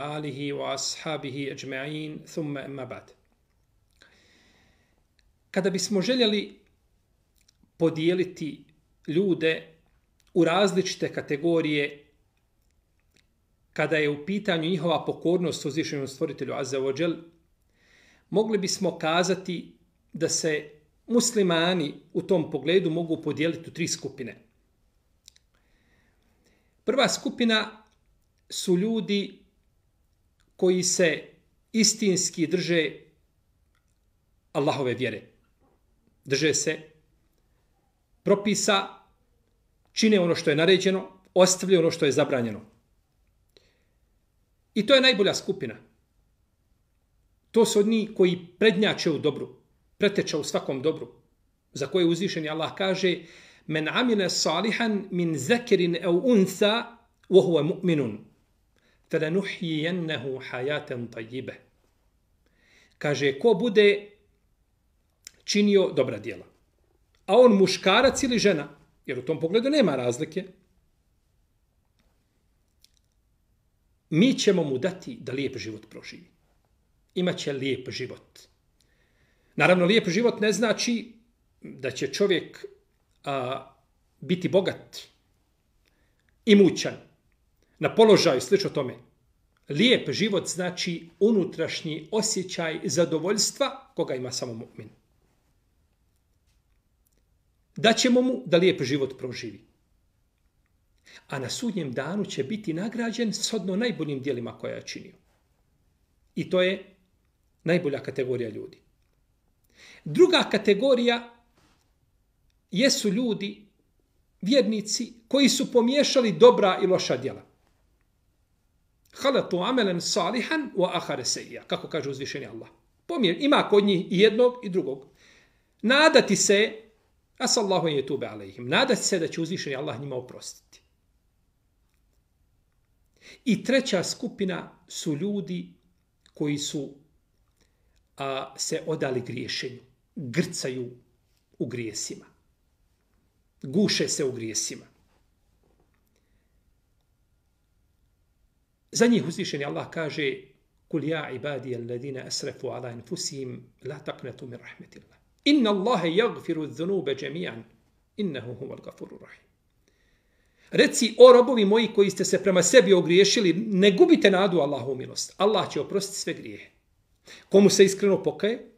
alihi wa ashabihi ajma'in, thumma amma ba'd. Kada bismo željeli podijeliti ljude u različite kategorije, kada je u pitanju njihova pokornost uzvišenom stvoritelju Azza wa Jal, mogli bismo kazati da se muslimani u tom pogledu mogu podijeliti u 3 skupine. Prva skupina su ljudi koji se istinski drže Allahove vjere. Drže se propisa, čine ono što je naređeno, ostavljaju ono što je zabranjeno. I to je najbolja skupina. To su oni koji prednjače u dobru, preteče u svakom dobru, za koje uzvišeni Allah kaže: Men amile salihan min zakirin au untha wa huwa mu'minun falanuhyiyannahu hayatan tayyiba. Kaže, ko bude činio dobra djela, a on muškarac ili žena, jer u tom pogledu nema razlike, mi ćemo mu dati da lijep život proživi. Imaće lijep život. Naravno, lijep život ne znači da će čovjek biti bogat, imućan, na položaju, slično tome. Lijep život znači unutrašnji osjećaj zadovoljstva koga ima samo mu'min. Daćemo mu da lijep život proživi. A na sudnjem danu će biti nagrađen shodno najboljim djelima koja je činio. I to je najbolja kategorija ljudi. Druga kategorija jesu ljudi, vjernici, koji su pomiješali dobra i loša djela. Halatu amelen salihan wa ahare seija, kako kaže uzvišeni Allah. Ima kod njih i jednog i drugog. Nadati se, asallahu en yetube alejhim, nadati se da će uzvišeni Allah njima oprostiti. I treća skupina su ljudi koji su se odali griješenju, grcaju u grijesima, guše se u grijesima. Za njih uzvišeni Allah kaže: Kul ja ibadi alladine asrafu ala anfusihim la taqnatu min rahmetillah. Inna Allahe yagfiru dhunube džemijan. Innehu huval gafuru rahim. Reci, o robovi moji koji ste se prema sebi ogriješili, ne gubite nadu Allahu milost. Allah će oprostiti sve grijehe. Komu se iskreno pokaje,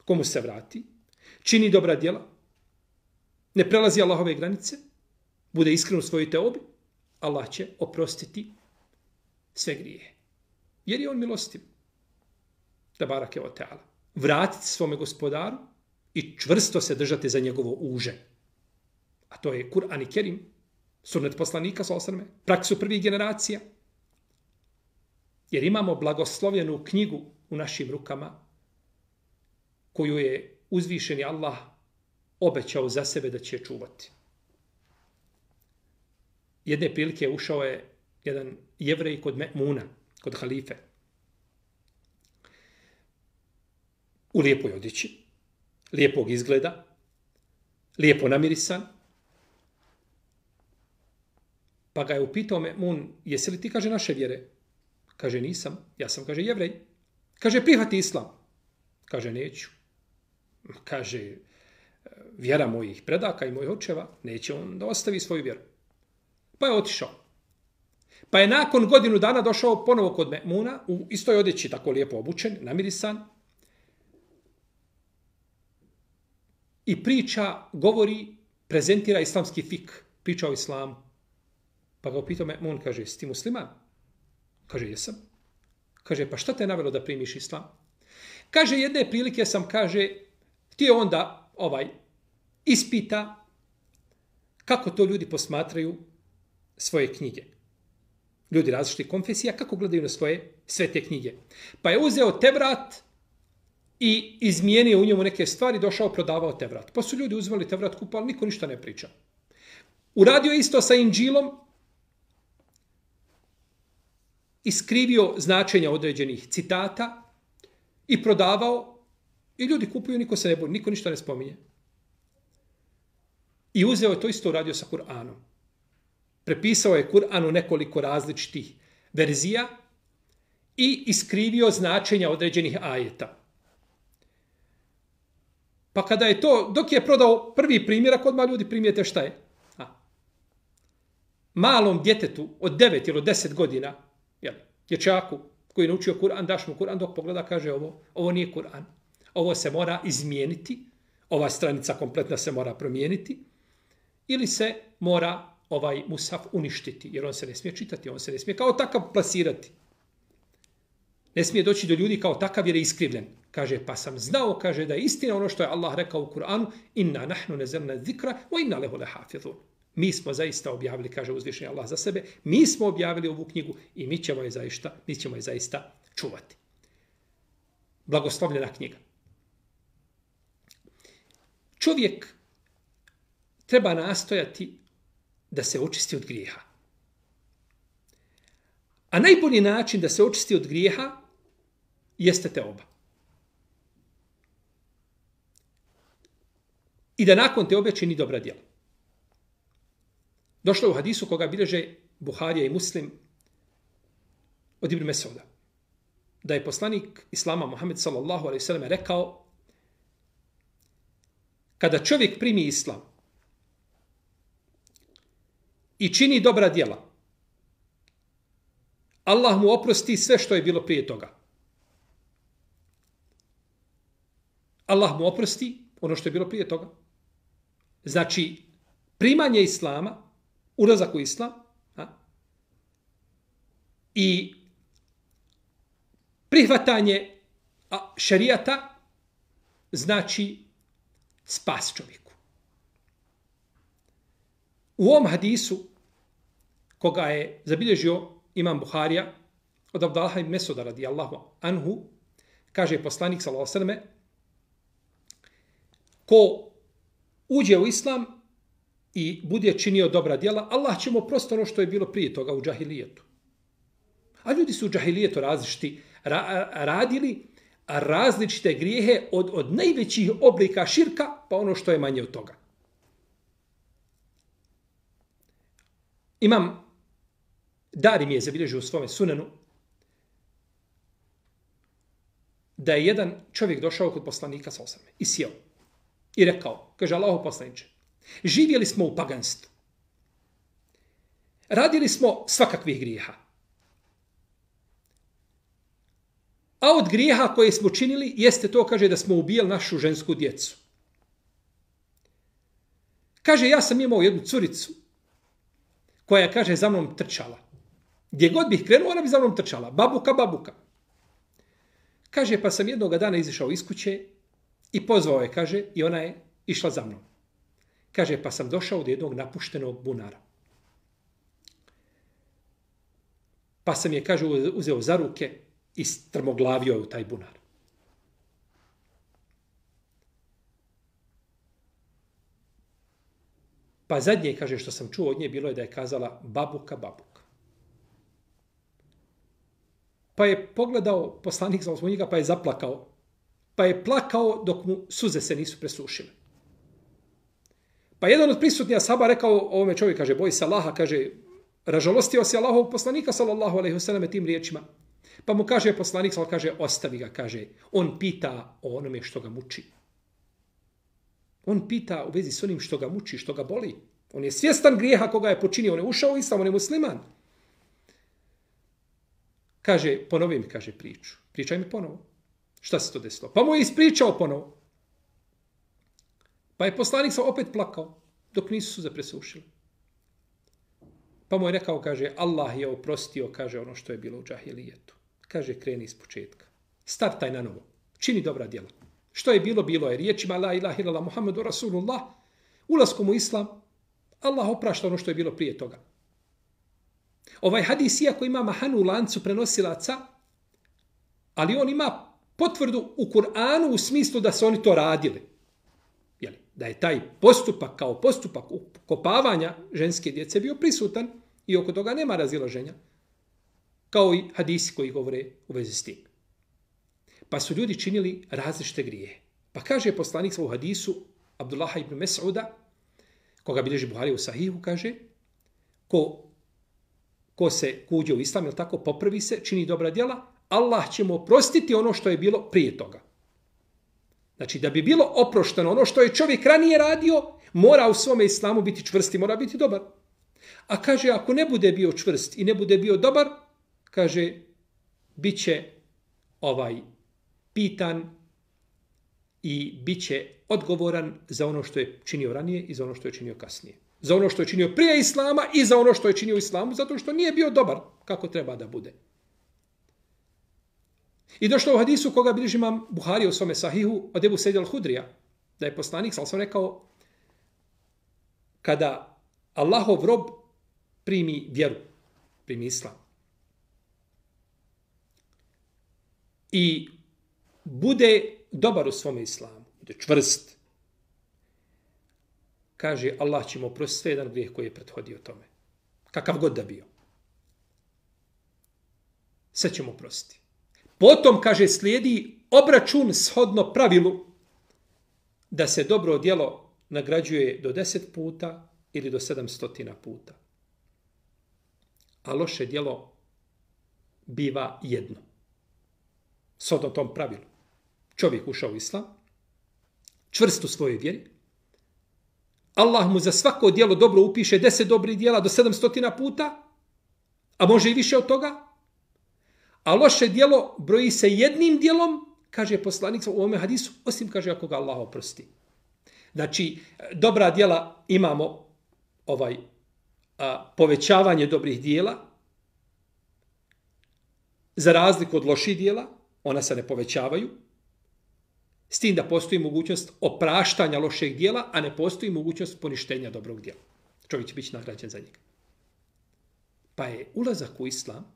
komu se vrati, čini dobra djela, ne prelazi Allahove granice, bude iskren u svojoj teobi, Allah će oprostiti sve grijehe. Jer je on milostiv. Tabarake wa ta'ala. Vratiti svome gospodaru i čvrsto se držati za njegovo uže. A to je Kur'an i Kerim, sunnet poslanika, praksu prvih generacija. Jer imamo blagoslovljenu knjigu u našim rukama, koju je uzvišeni Allah obećao za sebe da će čuvati. Jedne prilike ušao je jedan Jevrej kod Me'muna, kod halife, u lijepoj odjeći, lijepog izgleda, lijepo namirisan. Pa ga je upitao Me'mun: jesi li ti, kaže, naše vjere? Kaže, nisam, ja sam, kaže, Jevrej. Kaže, prihvati islam. Kaže, neću. Kaže, vjera mojih predaka i mojih očeva, neće on da ostavi svoju vjeru. Pa je otišao. Pa je nakon godinu dana došao ponovo kod Me'muna, u istoj odjeći, tako lijepo obučen, namirisan. I priča, govori, prezentira islamski fik, priča o islamu. Pa ga upitao Me'mun, kaže, jesi ti musliman? Kaže, jesam. Kaže, pa šta te je navelo da primiš islam? Kaže, jedne prilike sam, kaže, htio onda ispita kako to ljudi posmatraju svoje knjige. Ljudi različitih konfesija, kako gledaju na svoje svete knjige. Pa je uzeo Tevrat i izmijenio u njemu neke stvari, došao, prodavao Tevrat. Pa su ljudi uzvali Tevrat, kupali, niko ništa ne priča. Uradio isto sa Inđilom, iskrivio značenja određenih citata i prodavao, i ljudi kupuju, niko se ne boli, niko ništa ne spominje. I uzeo je to isto, uradio sa Kur'anom. Prepisao je Kur'an u nekoliko različitih verzija i iskrivio značenja određenih ajeta. Pa kada je to, dok je prodao prvi primjerak, odmah ljudi primijete šta je. Malom djetetu od 9 ili 10 godina, dječaku koji je naučio Kur'an, daš mu Kur'an, dok pogleda, kaže ovo nije Kur'an. Ovo se mora izmijeniti, ova stranica kompletna se mora promijeniti, ili se mora ovaj mushaf uništiti, jer on se ne smije čitati, on se ne smije kao takav plasirati. Ne smije doći do ljudi kao takav jer je iskrivljen. Kaže, pa sam znao, kaže, da je istina ono što je Allah rekao u Kur'anu, inna nahnu nezalna zikra, wa inna lehu lehafidhun. Mi smo zaista objavili, kaže uzvišeni Allah za sebe, mi smo objavili ovu knjigu i mi ćemo je zaista čuvati. Blagoslovljena knjiga. Čovjek treba nastojati da se očisti od grijeha. A najbolji način da se očisti od grijeha jeste teoba. I da nakon teobe čini dobra djela. Došlo je u hadisu koga bilježe Buharija i Muslim od Ibn Mesauda, da je poslanik Islama Muhammed sallallahu alejhi ve sellem rekao: kada čovjek primi islam i čini dobra djela, Allah mu oprosti sve što je bilo prije toga. Allah mu oprosti ono što je bilo prije toga. Znači, primanje islama, ulazak u islam, i prihvatanje šerijata znači spas čovjeku. U ovom hadisu, koga je zabilježio imam Buharija od Abdallaha ibn Mesuda radijallahu anhu, kaže poslanik sallallahu alejhi ve selleme: ko uđe u islam i bude činio dobra djela, Allah će mu oprostiti ono što je bilo prije toga u džahilijetu. A ljudi su u džahilijetu različiti, radili različite grijehe od najvećih oblika širka pa ono što je manje od toga. Imam Darimi je zabilježio u svome sunenu da je jedan čovjek došao kod poslanika sallallahu alejhi ve selleme i sjeo i rekao, kaže Allahov poslaniče, živjeli smo u paganstvu. Radili smo svakakvih grijeha. A od grijeha koje smo činili jeste to, kaže, da smo ubijali našu žensku djecu. Kaže, ja sam imao jednu curicu koja, kaže, za mnom trčala. Gdje god bih krenuo, ona bi za mnom trčala. Babuka, babuka. Kaže, pa sam jednog dana izišao iz kuće i pozvao je, kaže, i ona je išla za mnom. Kaže, pa sam došao do jednog napuštenog bunara. Pa sam je, kaže, uzeo za ruke i strmoglavio je u taj bunar. Pa zadnje, kaže, što sam čuo od nje, bilo je da je kazala babuka, babuka. Pa je pogledao poslanik sallallahu alejhi ve sellem, pa je zaplakao. Pa je plakao dok mu suze se nisu presušile. Pa jedan od prisutnija ashaba rekao ovome čovjeku, kaže, boj se Allaha, kaže, ražalostio se Allahovog poslanika sallallahu alejhi ve sellem tim riječima. Pa mu kaže poslanik, kaže, ostavi ga, kaže, on pita o onome što ga muči. On pita u vezi s onim što ga muči, što ga boli. On je svjestan grijeha koga je počinio, on je ušao u islam, on je musliman. Kaže, ponovi mi, kaže, priču. Pričaj mi ponovo. Šta se to desilo? Pa mu je ispričao ponovo. Pa je poslanik opet plakao, dok nisu suze presušile. Pa mu je rekao, kaže, Allah je oprostio, kaže, ono što je bilo u džahilijetu. Kaže, kreni iz početka. Startaj na novo. Čini dobra djela. Što je bilo, bilo je. Riječima la ilaha illallah Muhammedu Rasulullah, ulaskom u islam, Allah oprašta ono što je bilo prije toga. Ovaj hadis, iako ima mahanu u lancu prenosilaca, ali on ima potvrdu u Kur'anu u smislu da su oni to radili. Jeli, da je taj postupak kao postupak ukopavanja ženske djece bio prisutan i oko toga nema razilaženja. Kao i hadisi koji govore u vezi s tim. Pa su ljudi činili različite grijehe. Pa kaže poslanik u hadisu Abdullaha ibn Mes'uda, koga bilježi Buharija u Sahihu, kaže, ko se kuđe u islam, ili tako, popravi se, čini dobra djela, Allah će mu oprostiti ono što je bilo prije toga. Znači, da bi bilo oprošteno ono što je čovjek ranije radio, mora u svome islamu biti čvrst i mora biti dobar. A kaže, ako ne bude bio čvrst i ne bude bio dobar, kaže, bit će pitan i bit će odgovoran za ono što je činio ranije i za ono što je činio kasnije. Za ono što je činio prije islama i za ono što je činio u islamu, zato što nije bio dobar kako treba da bude. I došlo u hadisu koga bilježi imam Buharija u svome sahihu od Ebu Sejda al-Hudrija, da je poslanik, sam rekao, kada Allahov rob primi vjeru, primi islam, i bude dobar u svome islamu, bude čvrst, kaže, Allah će mu oprostiti sve jedan grijeh koji je prethodio tome. Kakav god da bio. Sve će mu oprostiti. Potom, kaže, slijedi obračun shodno pravilu da se dobro djelo nagrađuje do 10 puta ili do 700 puta. A loše djelo biva jedno. Shodno tom pravilu. Čovjek ušao u islam, čvrst u svojoj vjeri, Allah mu za svako djelo dobro upiše 10 dobrih djela do 700 puta, a može i više od toga, a loše djelo broji se jednim djelom, kaže poslanik u ovome hadisu, osim, kaže, ako ga Allah oprosti. Znači, dobra djela imamo povećavanje dobrih djela, za razliku od loših djela, ona se ne povećavaju, s tim da postoji mogućnost opraštanja lošeg djela, a ne postoji mogućnost poništenja dobrog djela. Čovjek će biti nagrađen za njega. Pa je ulazak u islam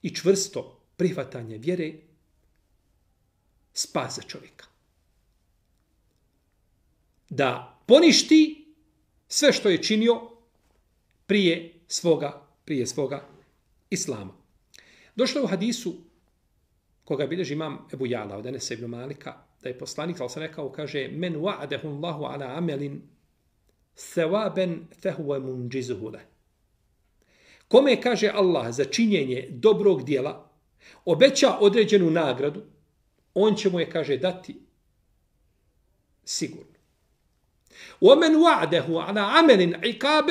i čvrsto prihvatanje vjere spas za čovjeka. Da poništi sve što je činio prije svoga islama. Došlo je u hadisu koga bilježi imam Ebu Jala od Enesa ibn Malika, da je poslanik, ali sam rekao, kaže, men wa'adahu Allahu ala amelin thawaban fahuwa munjizuhu leh. Kome, kaže Allah, za činjenje dobrog djela obeća određenu nagradu, on će mu je, kaže, dati sigurno. وَمَنْ وَعْدَهُ عَلَى عَمَلٍ عِقَابٍ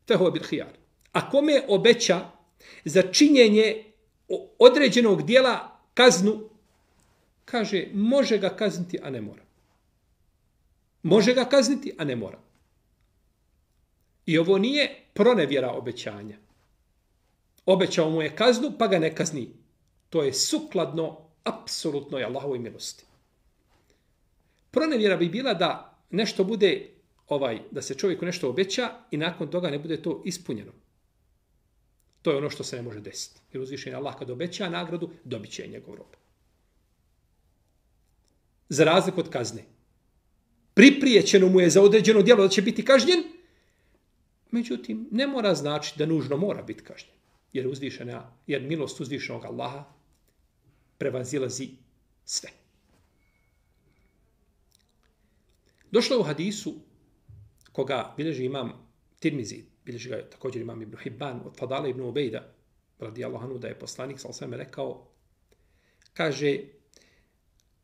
فَهُوَ بِالْخِيَارِ. A kome obeća za činjenje određenog djela kaznu, kaže, može ga kazniti, a ne mora. Može ga kazniti, a ne mora. I ovo nije pronevjera obećanja. Obećao mu je kaznu, pa ga ne kazni. To je sukladno apsolutnoj Allahovoj milosti. Pronevjera bi bila da nešto bude, da se čovjeku nešto obeća i nakon toga ne bude to ispunjeno. To je ono što se ne može desiti. Jer uzvišen je Allah kad obeća nagradu, dobit će njegov rob. Za razliku od kazne. Priprijećeno mu je za određeno djelo da će biti kažnjen, međutim, ne mora znači da nužno mora biti kažnjen. Jer milost uzvišenog Allaha prevazilazi sve. Došlo u hadisu koga bilježi imam Tirmizi, bilježi ga također imam Ibn Hibban od Fadala ibn Ubejda, radijallahu anhu, da je poslanik sallallahu alejhi ve sellem rekao, kaže,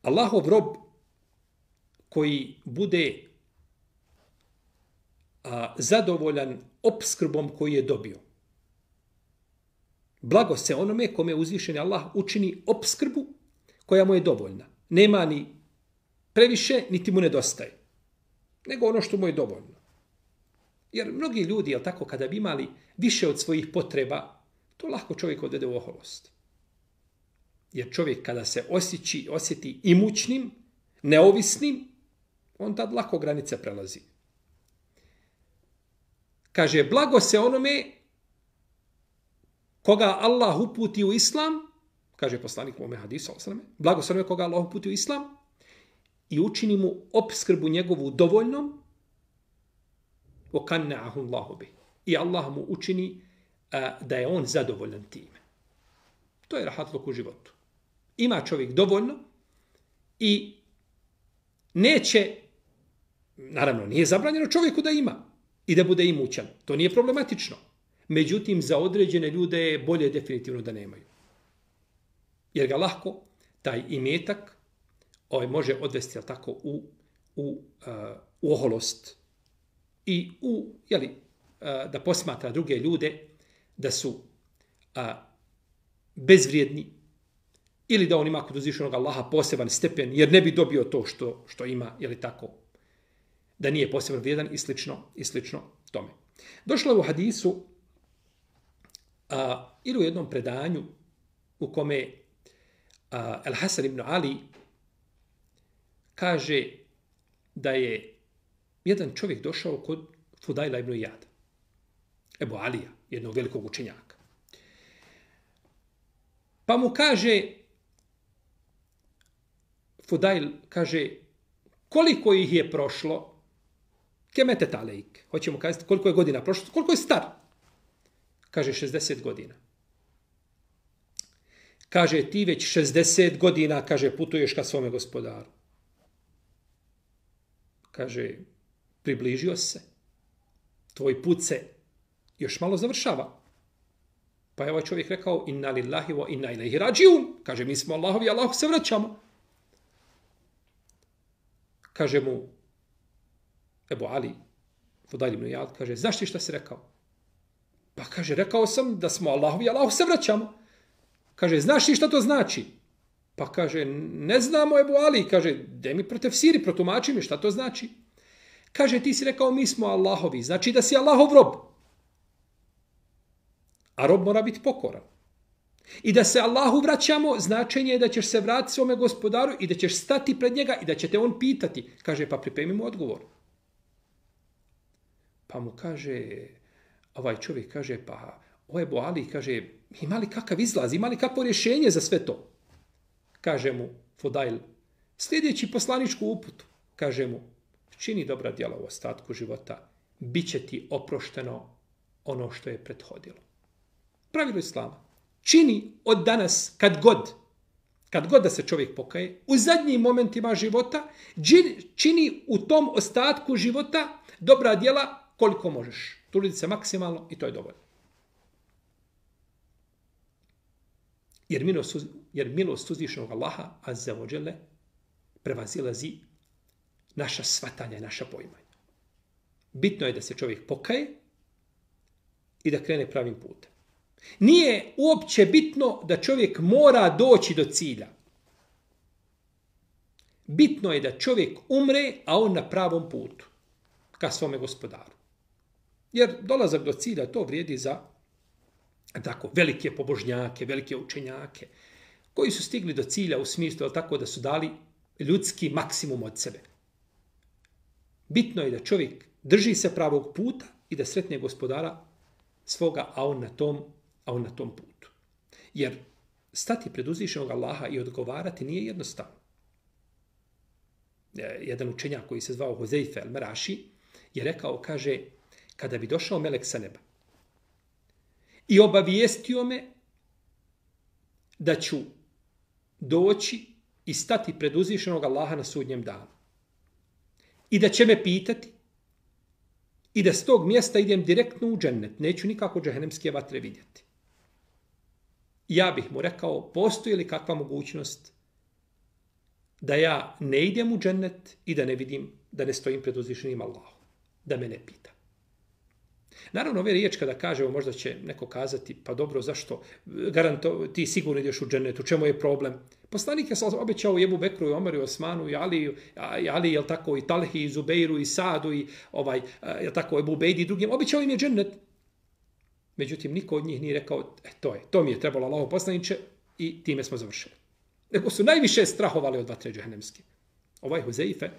Allahov rob koji bude zadovoljan opskrbom koji je dobio. Blago se onome kome uzvišeni Allah učini opskrbu koja mu je dovoljna. Nema ni previše, niti mu nedostaje. Nego ono što mu je dovoljno. Jer mnogi ljudi, jel tako, kada bi imali više od svojih potreba, to lahko čovjek odvede u oholost. Jer čovjek kada se osjeti imućnim, neovisnim, on tad lako granice prelazi. Kaže, blago se onome koga Allah uputi u islam, kaže poslanik u ome hadisu, blago se onome koga Allah uputi u islam i učini mu opskrbu njegovu dovoljnom, وَقَنَّعَهُ اللَّهُ بِهِ. I Allah mu učini da je on zadovoljan time. To je rahatluk u životu. Ima čovjek dovoljno i neće, naravno nije zabranjeno čovjeku da ima i da bude imućan. To nije problematično. Međutim, za određene ljude je bolje definitivno da nemaju. Jer ga lahko taj imetak može odvesti, jel tako, u oholost i da posmatra druge ljude da su bezvrijedni ili da on ima kod uzvišenog Allaha poseban stepen jer ne bi dobio to što ima, je li tako, da nije posebno vrijedan i slično tome. Došlo je u hadisu ili u jednom predanju u kome Al-Hasan ibn Ali kaže da je jedan čovjek došao kod Fudajla ibn Iyada, Ebu Alija, jednog velikog učenjaka. Pa mu kaže, Fudajl kaže, koliko ih je prošlo, kemetet alejk, hoćemo kazati koliko je godina prošlo, koliko je star? Kaže 60 godina. Kaže ti već 60 godina, kaže putuješ ka svome gospodaru. Kaže, približio se, tvoj put se još malo završava. Pa je ovaj čovjek rekao, inna lillahi wa inna ilaihi rađiun. Kaže, mi smo Allahovi, Allahu se vraćamo. Kaže mu Ebu Ali, Fudajl ibn Iyad, kaže, znaš ti šta si rekao? Pa kaže, rekao sam da smo Allahovi, Allahu se vraćamo. Kaže, znaš ti šta to znači? Pa kaže, ne znamo Ebu Ali. Kaže, de mi protefsiri, protumači mi šta to znači. Kaže, ti si rekao, mi smo Allahovi. Znači da si Allahov rob. A rob mora biti pokoran. I da se Allahu vraćamo, značenje je da ćeš se vratiti svome gospodaru i da ćeš stati pred njega i da će te on pitati. Kaže, pa pripremi mu odgovor. Pa mu kaže, ovaj čovjek kaže, pa o Ebu Ali, kaže, ima li kakav izlaz, ima li kakvo rješenje za sve to? Kaže mu Fudajl, sljedeći poslaničku uputu, kaže mu, čini dobra djela u ostatku života, bit će ti oprošteno ono što je prethodilo. Pravilo Islama. Čini od danas, kad god da se čovjek pokaje, u zadnjim momentima života, čini u tom ostatku života dobra djela koliko možeš. Truditi se maksimalno i to je dovoljno. Jer milost uzvišenog Allaha, azza wa dželle, prevazilazi naša shvatanja i naša poimanja. Bitno je da se čovjek pokaje i da krene pravim putem. Nije uopće bitno da čovjek mora doći do cilja. Bitno je da čovjek umre, a on na pravom putu, ka svome gospodaru. Jer dolazak do cilja, to vrijedi za tako velike pobožnjake, velike učenjake, koji su stigli do cilja u smislu tako da su dali ljudski maksimum od sebe. Bitno je da čovjek drži se pravog puta i da sretne gospodara svoga, a on na tom putu. Jer stati pred uzvišenog Allaha i odgovarati nije jednostavno. Jedan učenjak koji se zvao Huzeife al-Meraši je rekao, kaže, kada bi došao melek sa neba i obavijestio me da ću doći i stati pred uzvišenog Allaha na sudnjem danu i da će me pitati i da s tog mjesta idem direktno u džennet, neću nikako džehennemske vatre vidjeti. Ja bih mu rekao, postoji li kakva mogućnost da ja ne idem u džennet i da ne vidim, da ne stojim pred uzvišenim Allahom, da me ne pita. Naravno, ove riječ kada kažemo, možda će neko kazati, pa dobro, zašto? Ti sigurno ideš u džennet, u čemu je problem? Poslanik je obećao i Ebu Bekru, i Omeru, i Osmanu, i Ali, jel tako, i Talhi, i Zubeiru, i Sadu, i jel tako, Ebu Bejdi i drugim. Obećao im je džennet. Međutim, niko od njih nije rekao, to mi je trebalo Allahov poslaniče i time smo završili. Nego su najviše strahovali od vatre džehennemske. Ovaj Huzeife,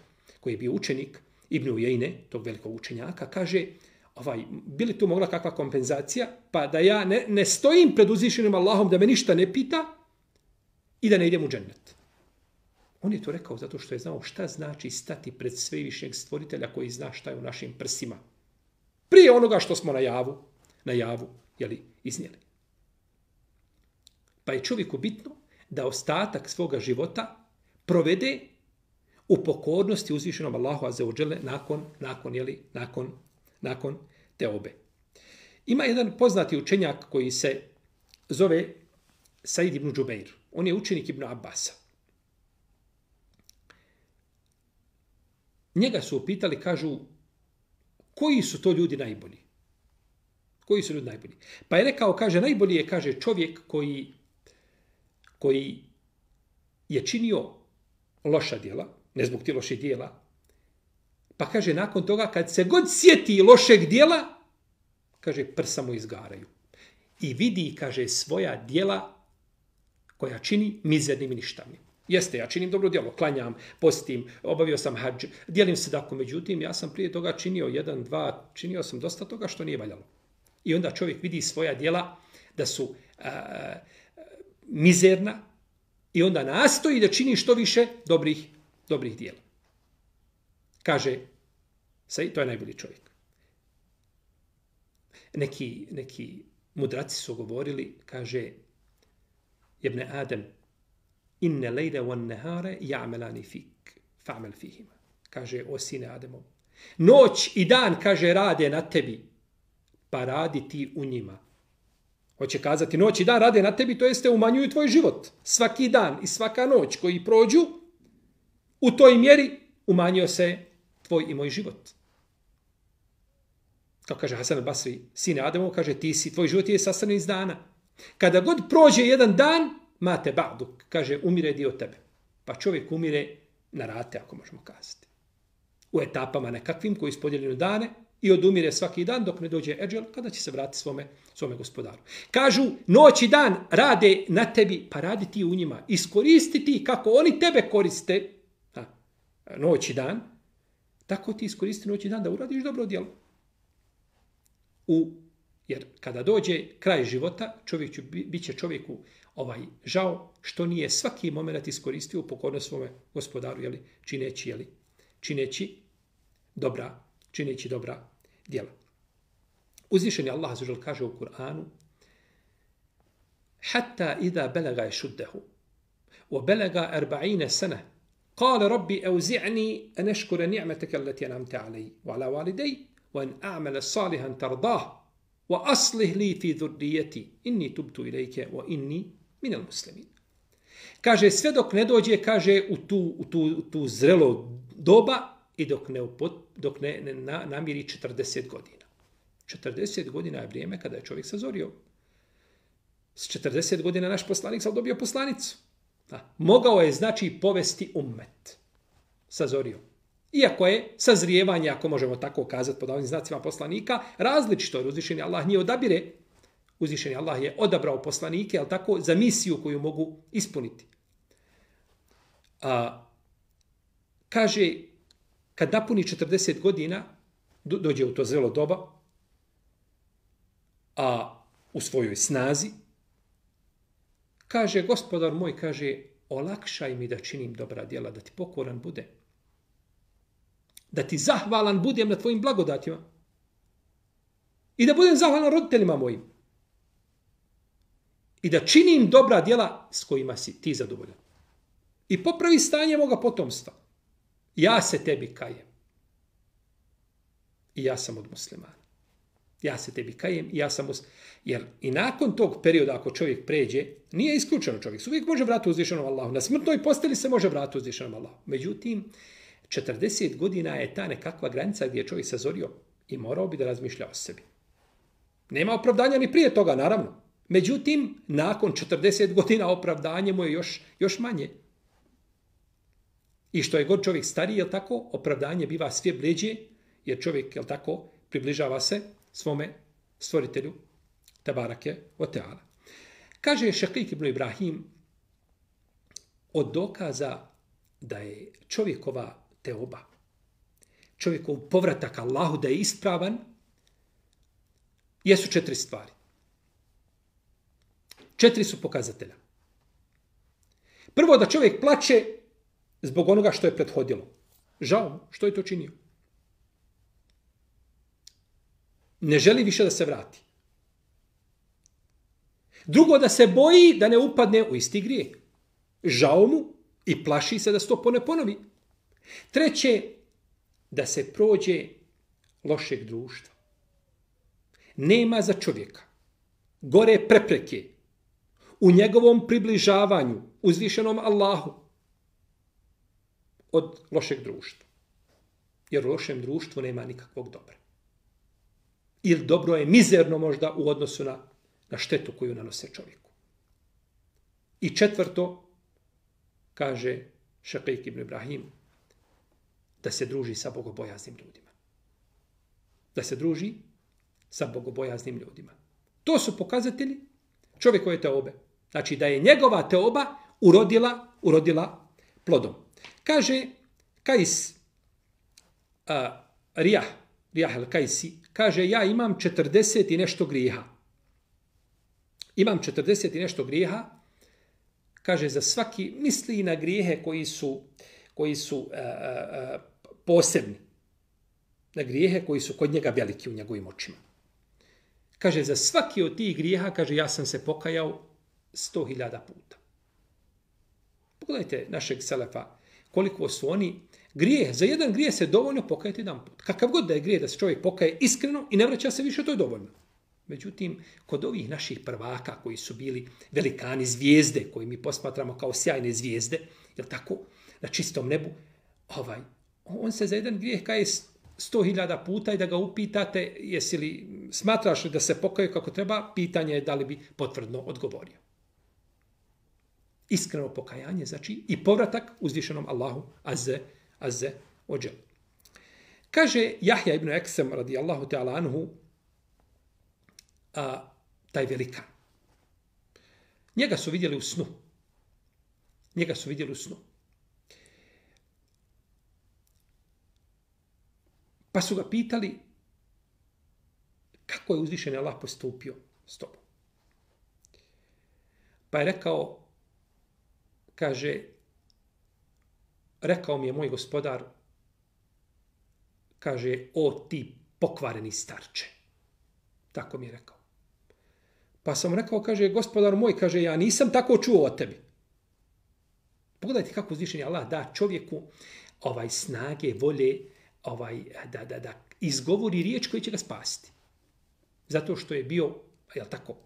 koji je bio učenik Ibn Ujejne, tog velikog učenjaka, kaže, bi li tu mogla kakva kompenzacija, pa da ja ne stojim pred uzvišenim Allahom, da me ništa ne pita i da ne idem u džennet. On je to rekao zato što je znao šta znači stati pred svevišnjeg stvoritelja koji zna šta je u našim prsima. Prije onoga što smo na javu iznijeli. Pa je čovjeku bitno da ostatak svoga života provede u pokornosti uzvišenom Allahu azza wa dželle nakon teobe. Ima jedan poznati učenjak koji se zove Said ibn Džubeir. On je učenik Ibn Abbasa. Njega su upitali, kažu, koji su to ljudi najbolji? Koji su ljudi najbolji? Pa je rekao, kaže, najbolji je, kaže, čovjek koji je činio loša djela, ne zbog ti loših djela, pa kaže, nakon toga, kad se god sjeti lošeg djela, kaže, prsa mu izgaraju. I vidi, kaže, svoja djela koja čini mizernim i ništavnim. Jeste, ja činim dobro djelo, klanjam, postim, obavio sam hadž, dijelim sadaku, međutim, ja sam prije toga činio 1, 2, činio sam dosta toga što nije valjalo. I onda čovjek vidi svoja djela da su mizerna i onda nastoji da čini što više dobrih djela. Kaže, to je najbolji čovjek. Neki mudraci su govorili, kaže, Ibn Adem, inne lejle wan nehare ja'melani fik, fa'mel fihima. Kaže, o sine Ademov. Noć i dan, kaže, rade na tebi, pa radi ti u njima. Hoće kazati, noć i dan rade na tebi, to jeste umanjuju tvoj život. Svaki dan i svaka noć koji prođu, u toj mjeri umanjio se tvoj i moj život. Kao kaže Hasan al-Basri, sine Ademov, kaže, tvoj život je sastavljen iz dana. Kada god prođe jedan dan, mate ba'duk, kaže, umire dio tebe. Pa čovjek umire na rate, ako možemo kazati. U etapama nekakvim koji ispodjeljeno dane i odumire svaki dan dok ne dođe eđel, kada će se vratiti svome gospodaru. Kažu, noć i dan rade na tebi, pa radi ti u njima. Iskoristi ti kako oni tebe koriste, noć i dan, tako ti iskoristi noć i dan da uradiš dobro djelo. Jer kada dođe kraj života, bit će čovjeku žao što nije svaki moment iskoristio u pokornost svome gospodaru, čineći dobra djela. Uzvišeni Allah azza wa dželle kaže u Kur'anu: "Hatta idha balaga yashuddahu wa balaga 40 sana qala rabbi awzi'ni an ashkura ni'mataka allati an'amta 'alayya wa 'ala walidayya wa an a'mala salihan tardah wa aslih li fi dhurriyyati inni tubtu ilayka wa inni min al-muslimin." Kaže, sve dok ne dođe, kaže, u tu zrelo doba i dok ne namiri 40 godina. 40 godina je vrijeme kada je čovjek sazorio. S 40 godina naš poslanik sam dobio poslanicu. Mogao je, znači, povesti ummet. Sazorio. Iako je sazrijevanje, ako možemo tako kazati pod ovim znacima poslanika, različito jer uzvišeni Allah nije odabire. Uzvišeni Allah je odabrao poslanike, ali tako, za misiju koju mogu ispuniti. Kaže, kad napuni 40 godina, dođe u to zrelo doba, a u svojoj snazi, kaže, gospodar moj, kaže, olakšaj mi da činim dobra djela, da ti pokoran bude. Da ti zahvalan budem na tvojim blagodatima. I da budem zahvalan roditeljima mojim. I da činim dobra djela s kojima si ti zadovoljan. I popravi stanje moga potomstva. Ja se tebi kajem. I ja sam od muslimana. Ja se tebi kajem i ja sam Jer i nakon tog perioda, ako čovjek pređe, nije isključeno čovjek. Uvijek može vratiti uzvišenom Allahu. Na smrtnoj posteli se može vratiti uzvišenom Allahu. Međutim, 40 godina je ta nekakva granica gdje je čovjek sazorio i morao bi da razmišlja o sebi. Nema opravdanja ni prije toga, naravno. Međutim, nakon 40 godina opravdanje mu je još manje. I što je god čovjek stariji, je tako, opravdanje biva sve bleđe, jer čovjek, je tako, približava se svome stvoritelju, Tebarake o Teala. Kaže Šakik ibn Ibrahim, od dokaza da je čovjekova teoba, čovjekov povratak Allahu da je ispravan, jesu 4 stvari. 4 su pokazatelja. Prvo, da čovjek plače zbog onoga što je prethodilo. Žao mu, što je to činio. Ne želi više da se vrati. Drugo, da se boji da ne upadne u isti grijeh. Žao mu i plaši se da se to ne ponovi. Treće, da se prođe lošeg društva. Nema za čovjeka gore prepreke u njegovom približavanju uzvišenom Allahu od lošeg društva. Jer u lošem društvu nema nikakvog dobra. Ili dobro je mizerno možda u odnosu na štetu koju nanose čovjeku. I četvrto, kaže Šakik ibn Ibrahim, da se druži sa bogobojaznim ljudima. Da se druži sa bogobojaznim ljudima. To su pokazatelji čovjekove teobe. Znači da je njegova teoba urodila plodom. Kaže Kajs Rijah al-Kajsi, kaže ja imam 40 i nešto grijeha. Imam 40 i nešto grijeha, kaže za svaki, misli na grijehe koji su posebni. Na grijehe koji su kod njega veliki u njegovim očima. Kaže za svaki od tih grijeha, kaže ja sam se pokajao 100.000 puta. Pogledajte našeg selefa, koliko su oni grijeh, za jedan grijeh se dovoljno pokajati jedan put. Kakav god da je grijeh da se čovjek pokaje iskreno i ne vraća se više, to je dovoljno. Međutim, kod ovih naših prvaka koji su bili velikani zvijezde, koji mi posmatramo kao sjajne zvijezde, jel tako, na čistom nebu, on se za jedan grijeh kaje 100.000 puta i da ga upitate, jesi li, smatraš li da se pokaje kako treba, pitanje je da li bi potvrdno odgovorio. Iskreno pokajanje, znači i povratak uzvišenom Allahu azze ođel. Kaže Jahja ibn Eksem radijallahu ta'ala anhu, taj velikan. Njega su vidjeli u snu. Pa su ga pitali kako je uzvišeni Allah postupio s tobom. Pa je rekao, kaže, rekao mi je moj gospodar, kaže, o ti pokvareni starče. Tako mi je rekao. Pa sam rekao, kaže, gospodar moj, kaže, ja nisam tako čuo o tebi. Pogledajte kako uzvišeni Allah da čovjeku snage, volje, da izgovori riječ koja će ga spasiti. Zato što je bio, jel tako,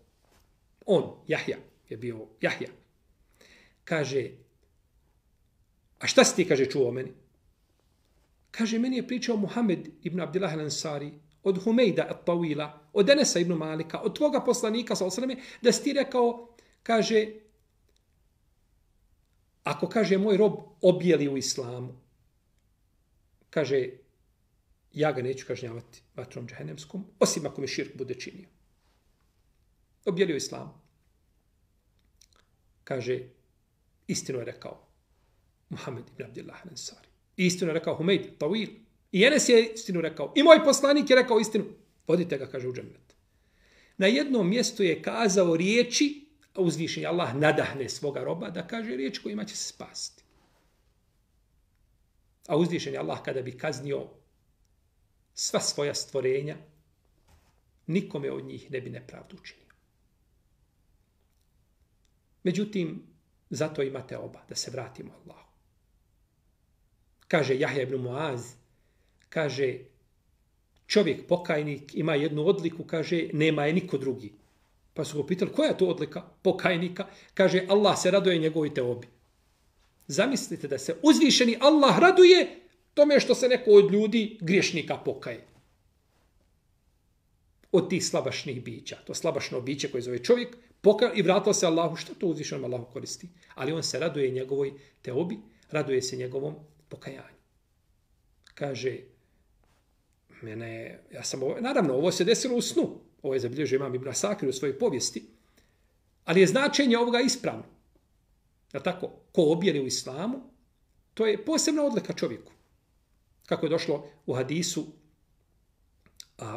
Jahja, je bio Jahja. Kaže, a šta si ti, kaže, čuo o meni? Kaže, meni je pričao Muhammed ibn Abdillah al-Ansari, od Humejda at-Tawila, od Enesa ibn Malika, od tvoga poslanika, da si ti rekao, kaže, ako, kaže, moj rob objeli u islamu, kaže, ja ga neću kažnjavati vatrom džehennemskom, osim ako mi širk bude činio. Objeli u islamu. Kaže, istinu je rekao Muhammed ibn Abdillah al-Ansari. Istinu je rekao Humejd Tawil. I Enes je istinu rekao. I moj poslanik je rekao istinu. Vodite ga, kaže, u džennet. Na jednom mjestu je kazao riječi, a uzvišeni Allah nadahne svoga roba da kaže riječ kojima će se spasiti. A uzvišeni Allah kada bi kaznio sva svoja stvorenja, nikome od njih ne bi nepravdu učinio. Međutim, zato imate oba, da se vratimo Allahu. Kaže Jahja ibn Muaz, kaže, čovjek pokajnik ima jednu odliku, kaže, nema je niko drugi. Pa su ga pitali, koja je to odlika pokajnika? Kaže, Allah se raduje njegovoj teobi. Zamislite da se uzvišeni Allah raduje tome što se neko od ljudi griješnika pokaje. Od tih slabašnih bića. To slabašno biće koje zove čovjek, pokaje i vratilo se Allahu. Što to uzvišenom Allahu koristi? Ali on se raduje njegovoj teobi, raduje se njegovom pokajanju. Kaže, naravno, ovo se desilo u snu. Ovo je zabilježio imam Ibn Asakir u svojoj povijesti. Ali je značenje ovoga ispravno. Ja tako, ko objeli u islamu, to je posebna odlika čovjeku. Kako je došlo u hadisu,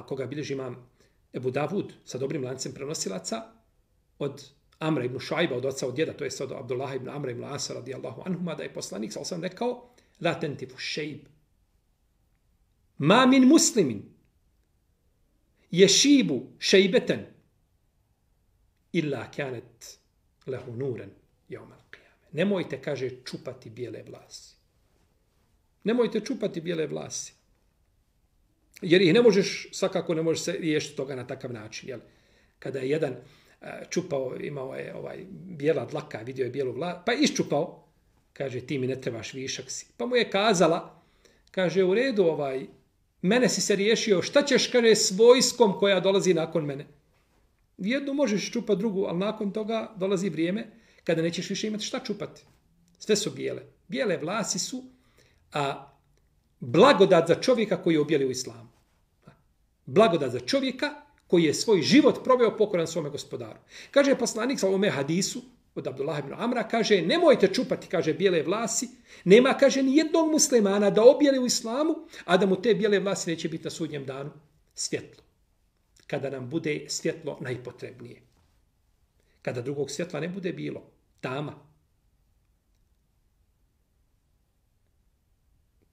koga bilježi imam Ebu Davud sa dobrim lancem prenosilaca, od Amra ibn Šajba, od oca od djeda, to je od Abdullaha ibn Amra ibn Asa radijallahu anhuma, da je poslanik sa osam rekao, la tentifu šejb. Ma min muslimin ješibu šejbeten illa kanet lehu nuren jaumal qiyame. Nemojte, kaže, čupati bijele vlasi. Nemojte čupati bijele vlasi. Jer ih ne možeš, svakako ne možeš se riješiti toga na takav način. Jel? Kada je jedan čupao, imao je bijela dlaka, vidio je bijelu glavu, pa je iščupao. Kaže, ti mi ne trebaš, višak si. Pa mu je kazala, kaže, u redu, mene si se riješio, šta ćeš, kaže, s vojskom koja dolazi nakon mene? Jednu možeš čupati, drugu, ali nakon toga dolazi vrijeme kada nećeš više imati šta čupati. Sve su bijele. Bijele vlasi su blagodat za čovjeka koji je objeli u islamu. Blagodat za čovjeka koji je svoj život proveo pokoran svome gospodaru. Kaže poslanik sa ovome hadisu od Abdullah ibn Amra, kaže, nemojte čupati, kaže, bijele vlasi. Nema, kaže, ni jednog muslimana da objeli u islamu, a da mu te bijele vlasi neće biti na sudnjem danu svjetlo. Kada nam bude svjetlo najpotrebnije. Kada drugog svjetla ne bude bilo, tama.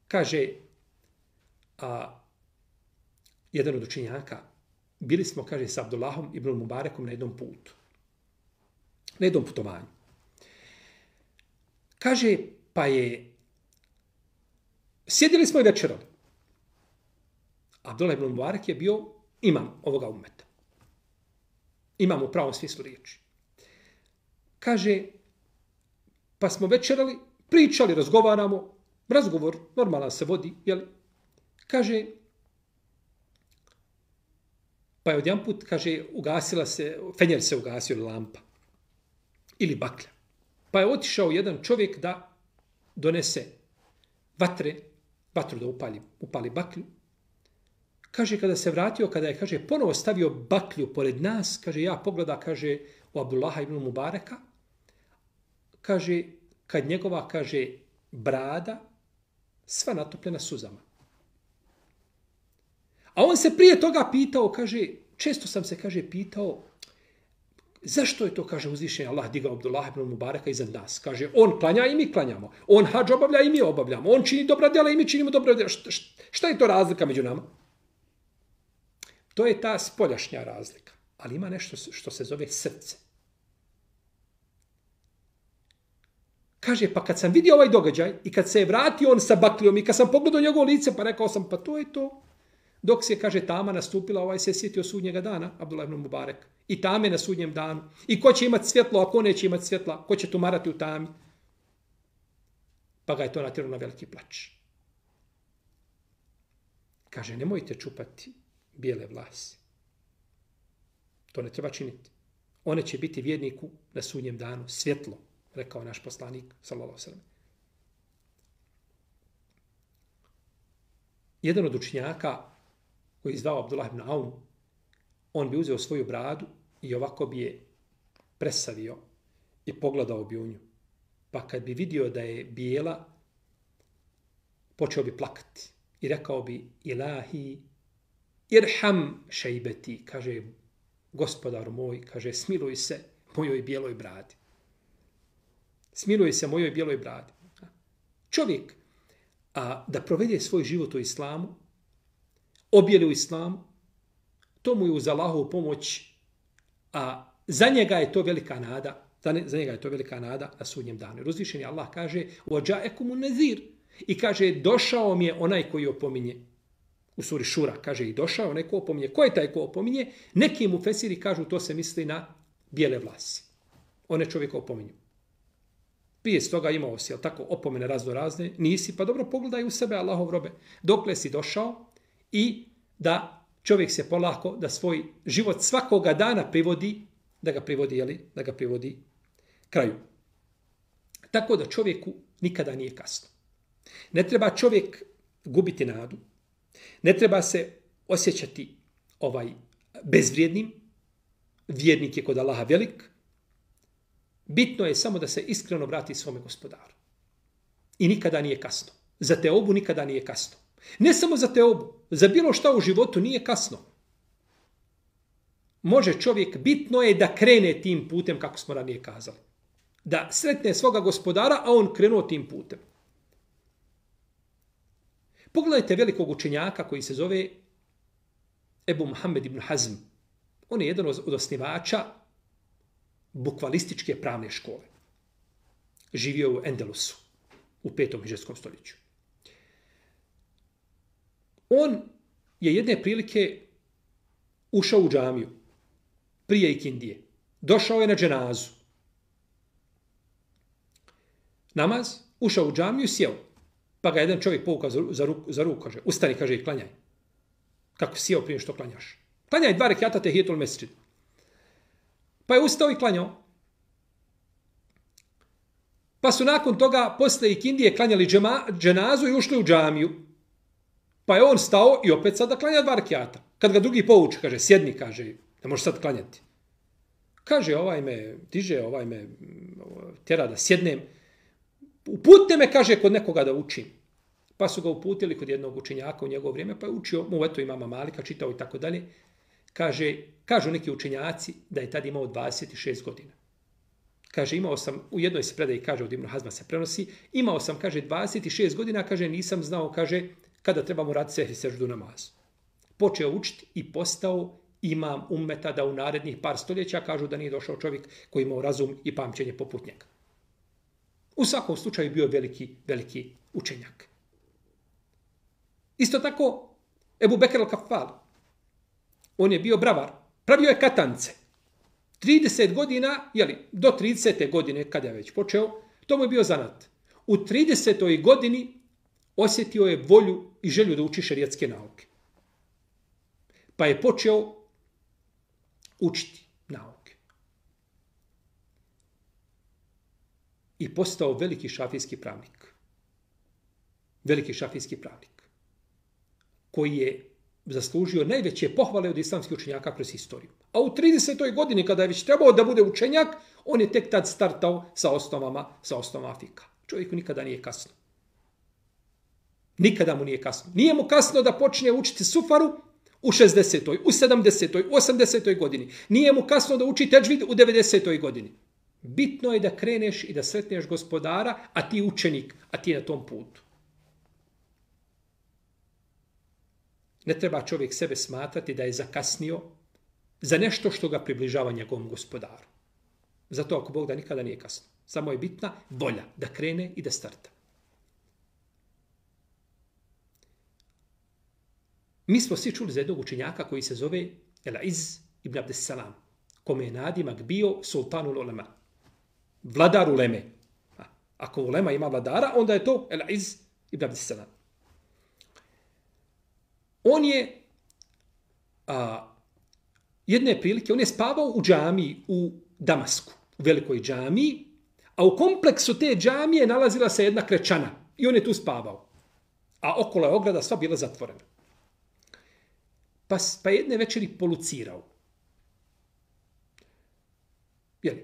Kaže, jedan od učenjaka, bili smo, kaže, sa Abdullahom ibn Mubarekom na jednom putu. Na jednom putovanju. Kaže, pa je, sjedili smo i večerali. Abdullah ibn Mubarek je bio imam ovoga ummeta. Imam u pravom smislu riječi. Kaže, pa smo večerali, pričali, razgovaramo, razgovor normalno se vodi, jel? Kaže, pa je odjedanput, kaže, ugasila se, fenjer se ugasio, lampa. Ili baklja. Pa je otišao jedan čovjek da donese vatru da upali baklju. Kaže, kada se vratio, kada je, kaže, ponovo stavio baklju pored nas, kaže, ja pogleda, kaže, u Abdullaha ibn Mubareka, kaže, kad njegova, kaže, brada sva natopljena suzama. A on se prije toga pitao, kaže, često sam se, kaže, pitao, zašto je to, kaže, uzvišenje Allah digao Abdullah ibn Mubareka iznad nas? Kaže, on klanja i mi klanjamo. On hadž obavlja i mi obavljamo. On čini dobra djela i mi činimo dobra djela. Šta je to razlika među nama? To je ta spoljašnja razlika. Ali ima nešto što se zove srce. Kaže, pa kad sam vidio ovaj događaj i kad se je vratio on sa baklijom i kad sam pogledao njegovo lice, pa rekao sam, pa to je to. Dok se, kaže, tama nastupila, se sjetio sudnjega dana, Abdullah ibn Mubarek. I tame na sudnjem danu. I ko će imati svjetlo, a ko neće imati svjetla, ko će tumarati u tami. Pa ga je to natjeralo na veliki plač. Kaže, nemojte čupati bijele vlasi. To ne treba činiti. One će biti vjerniku na sudnjem danu svjetlo, rekao naš poslanik, sallallahu alejhi ve sellem. Jedan od učenjaka koji je zvao Abdullah ibn Aun, on bi uzeo svoju bradu i ovako bi je presavio i pogledao bi u nju. Pa kad bi vidio da je bijela, počeo bi plakati i rekao bi, Ilahi, irham šejbeti, kaže, gospodar moj, kaže, smiluj se mojoj bijeloj bradi. Smiluj se mojoj bijeloj bradi. Čovjek, da provede svoj život u islamu, objeli u islamu, to mu je uz Allahovu pomoć, a za njega je to velika nada, za njega je to velika nada na sudnjem danu. Uzvišeni Allah kaže, وَجَاءَكُمُ النَّذِيرُ i kaže, došao mi je onaj koji opominje. U suri Šura kaže, i došao onaj ko opominje. Ko je taj ko opominje? Neki mu fesiri kažu, to se misli na bijele vlasi. One čovjeka opominju. Prije s toga imao si, jel tako, opomene razne, nisi, pa dobro pogledaj u sebe, Allahov robe, dokle si došao i da čovjek se polako, da svoj život svakoga dana privodi, da ga privodi kraju. Tako da čovjeku nikada nije kasno. Ne treba čovjek gubiti nadu, ne treba se osjećati bezvrijednim, vjernik je kod Allaha velik, bitno je samo da se iskreno vrati svome gospodaru. I nikada nije kasno. Za teobu nikada nije kasno. Ne samo za teobu, za bilo šta u životu nije kasno. Može čovjek, bitno je da krene tim putem, kako smo ranije kazali. Da sretne svoga gospodara, a on krenuo tim putem. Pogledajte velikog učenjaka koji se zove Ebu Muhammed ibn Hazm. On je jedan od osnivača bukvalističke pravne škole. Živio u Endelusu u 5. hidžetskom stoljeću. On je jedne prilike ušao u džamiju prije ikindije došao je na dženazu. Namaz, ušao u džamiju i sjeo. Pa ga jedan čovjek povukao za ruku, kaže, ustani, kaže, i klanjaj. Kako sjeo prije što klanjaš? Klanjaj 2 rekata tehijetul mesdžid. Pa je ustao i klanjao. Pa su nakon toga posle ikindije klanjali dženazu i ušli u džamiju. Pa je on stao i opet sada klanja 2 rekata. Kad ga drugi povuče, kaže, sjedni, kaže, ne možeš sad klanjati. Kaže, ovaj me diže, ovaj me tjera da sjednem. Uputite me, kaže, kod nekoga da učim. Pa su ga uputili kod jednog učenjaka u njegovo vrijeme, pa je učio mu eto imama Malika, čitao i tako dalje. Kažu neki učenjaci da je tad imao 26 godina. Kaže, imao sam, u jednoj se predaji, kaže, od Ibn Hazma se prenosi, imao sam, kaže, 26 godina, kaže, nisam znao, kaže, kada trebamo raditi sehri seždu namazu. Počeo učiti i postao imam ummeta da u narednih par stoljeća kažu da nije došao čovjek koji imao razum i pamćenje poput njega. U svakom slučaju bio veliki učenjak. Isto tako, Ebu Bekr al-Kafal, on je bio bravar, pravio je katance. 30 godina, do 30. godine, kada je već počeo, to mu je bio zanat. U 30. godini osjetio je volju i želju da uči šerijatske nauke. Pa je počeo učiti nauke. I postao veliki šafijski pravnik. Veliki šafijski pravnik. Koji je zaslužio najveće pohvale od islamskih učenjaka kroz historiju. A u 30. godini, kada je već trebao da bude učenjak, on je tek tad startao sa osnovama fika. Čovjeku nikada nije kasno. Nikada mu nije kasno. Nije mu kasno da počne učiti sufaru u 60. u 70. u 80. godini. Nije mu kasno da uči tedžvid u 90. godini. Bitno je da kreneš i da sretneš gospodara, a ti učenik, a ti na tom putu. Ne treba čovjek sebe smatrati da je zakasnio za nešto što ga približava njegovom gospodaru. Zato ako Bog da nikada nije kasno. Samo je bitna volja da krene i da starta. Mi smo svi čuli za jednog učenjaka koji se zove El-Iz ibn Abdessalam, kome je nadimak bio sultanul ulema, vladar uleme. Ako ulema ima vladara, onda je to El-Iz ibn Abdessalam. On je jedne prilike, on je spavao u džamiji u Damasku, u velikoj džamiji, a u kompleksu te džamije nalazila se jedna krečana i on je tu spavao. A okolo je ograda sva bila zatvorena. Pa jedne večeri polucirao.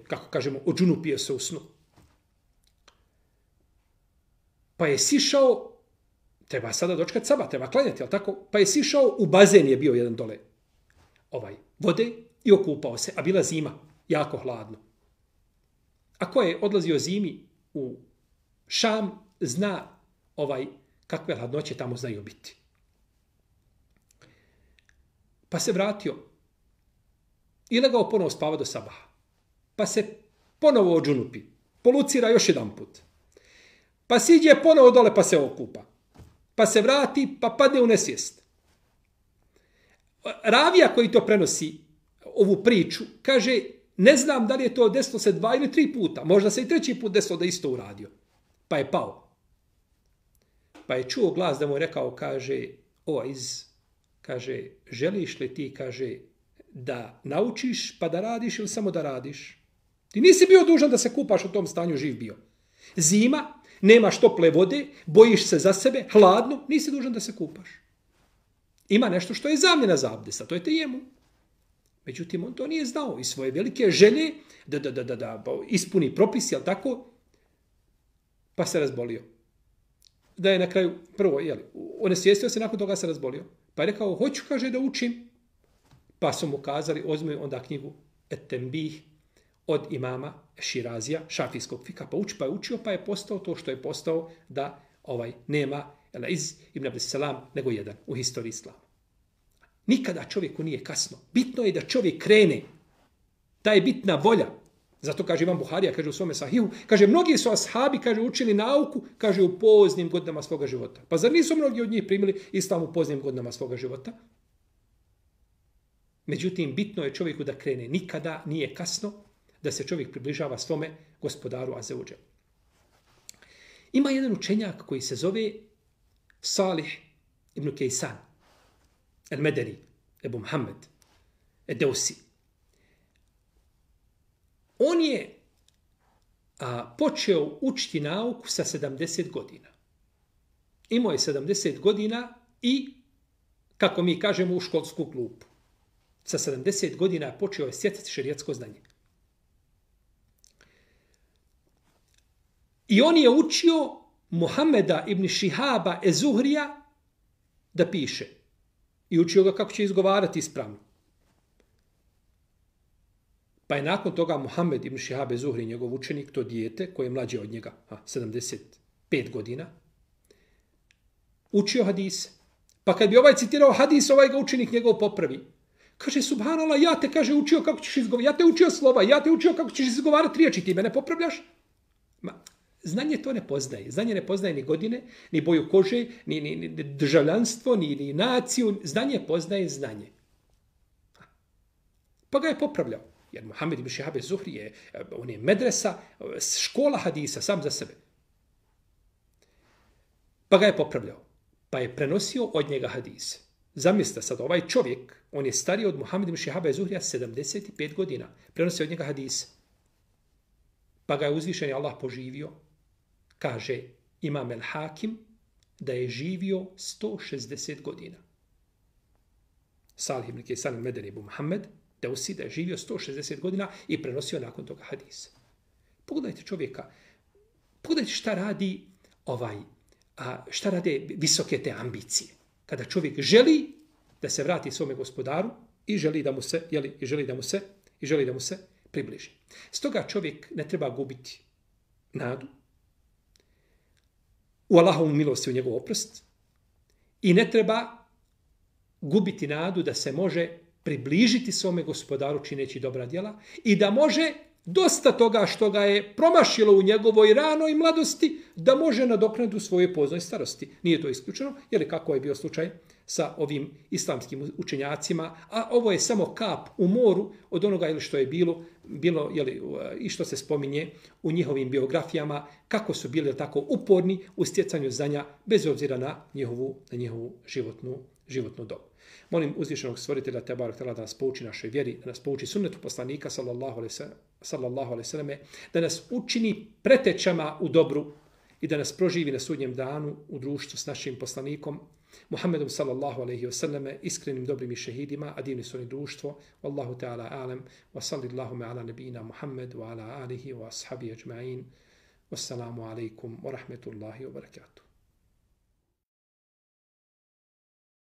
Kako kažemo, odžunupio se u snu. Pa je sišao, treba sada dočekati sabah, treba klanjati, ali tako? Pa je sišao, u bazen je bio jedan dole vode i okupao se, a bila zima, jako hladno. A ko je odlazio zimi u Šam, zna kakve hladnoće tamo znaju biti. Pa se vratio i legao ponovo spava do sabaha. Pa se ponovo odžunupi, polucira još jedan put. Pa siđe ponovo dole pa se okupa. Pa se vrati, pa padne u nesvijest. Ravija koji to prenosi, ovu priču, kaže, ne znam da li je to desilo se 2 ili 3 puta. Možda se i 3. put desilo da isto uradio. Pa je pao. Pa je čuo glas da mu je rekao, kaže, kaže, želiš li ti, kaže, da naučiš pa da radiš ili samo da radiš? Ti nisi bio dužan da se kupaš u tom stanju, živ bio. Zima, nemaš tople vode, bojiš se za sebe, hladno, nisi dužan da se kupaš. Ima nešto što je zamjena za abdest, a to je tejemum. Međutim, on to nije znao i svoje velike želje da ispuni propis, jel tako? Pa se razbolio. Da je na kraju, prvo, onesvijestio se, nakon toga se razbolio. Pa je rekao, hoću, kaže, da učim. Pa su mu kazali, uzmi onda knjigu Et-Tembih od imama Širazija, šafijskog fika, pa uči, pa je učio, pa je postao to što je postao da nema El-Iz ibn Abdessalam nego jedan u historiji islama. Nikada čovjeku nije kasno. Bitno je da čovjek krene. Ta je bitna volja. Zato kaže Imam Buharija, kaže u svome sahihu, kaže mnogi su ashabi, kaže učili nauku, kaže u poznim godinama svoga života. Pa zar nisu mnogi od njih primili islam u poznim godinama svoga života? Međutim, bitno je čovjeku da krene. Nikada nije kasno da se čovjek približava svome gospodaru Azza wa Jal. Ima jedan učenjak koji se zove Salih ibn Kaysan, el-Medeni, Ebu Muhammed, el-Deusi. On je počeo učiti nauku sa 70 godina. Imao je 70 godina i, kako mi kažemo, u školsku klupu. Sa 70 godina počeo je stjecati šerijatsko znanje. I on je učio Muhameda ibn Šihaba ez-Zuhrija da piše. I učio ga kako će izgovarati ispravno. Pa je nakon toga Muhammed ibn Šihab ez-Zuhri, njegov učenik, to dijete koje je mlađe od njega, 75 godina, učio hadise. Pa kad bi ovaj citirao hadis, ovaj ga učenik njegov popravi. Kaže, subhanallah, ja te, kaže, učio kako ćeš izgovarati, ja te učio slova, ja te učio kako ćeš izgovarati riječi, ti mene popravljaš? Znanje to ne poznaje. Znanje ne poznaje ni godine, ni boju kože, ni državljanstvo, ni naciju. Znanje poznaje znanje. Pa ga je popravljao. Jer Muhammed ibn Šihab ez-Zuhri on je medresa, škola hadisa, sam za sebe. Pa ga je popravljao. Pa je prenosio od njega hadise. Zamislite sad, ovaj čovjek, on je stariji od Muhammed ibn Šihaba ez-Zuhrija 75 godina. Prenosio od njega hadise. Pa ga je uzvišeni Allah poživio. Kaže Imam el-Hakim da je živio 160 godina. Salih ibn Kaysan el-Medeni Ebu Muhammed Deusi da je živio 160 godina i prenosio nakon toga hadise. Pogledajte čovjeka, pogledajte šta radi šta rade visoke te ambicije. Kada čovjek želi da se vrati svome gospodaru i želi da mu se približi. Stoga čovjek ne treba gubiti nadu u Allahovu milost i u njegov oprost i ne treba gubiti nadu da se može približiti svome gospodaru čineći dobra djela i da može dosta toga što ga je promašilo u njegovoj ranoj mladosti da može nadoknaditi u svojoj poznoj starosti. Nije to isključeno, jer kako je bio slučaj sa ovim islamskim učenjacima, a ovo je samo kap u moru od onoga što je bilo i što se spominje u njihovim biografijama, kako su bili tako uporni u stjecanju znanja bez obzira na njihovu životnu dobu. Molim uzvišenog stvoritelja Tebarek Tala da nas pouči našoj vjeri, da nas pouči sunnetu poslanika sallallahu alejhi ve selleme, da nas učini pretečama u dobru i da nas proživi na sudnjem danu u društvu s našim poslanikom Muhammedom sallallahu alejhi ve selleme, iskrenim dobrim i šehidima, a divni su oni društvo. Wallahu ta'ala a'lam wa sallallahu ala nabina Muhammed wa ala alihi wa ashabihi ajma'in. Wassalamu alaikum wa rahmetullahi wa barakatuh.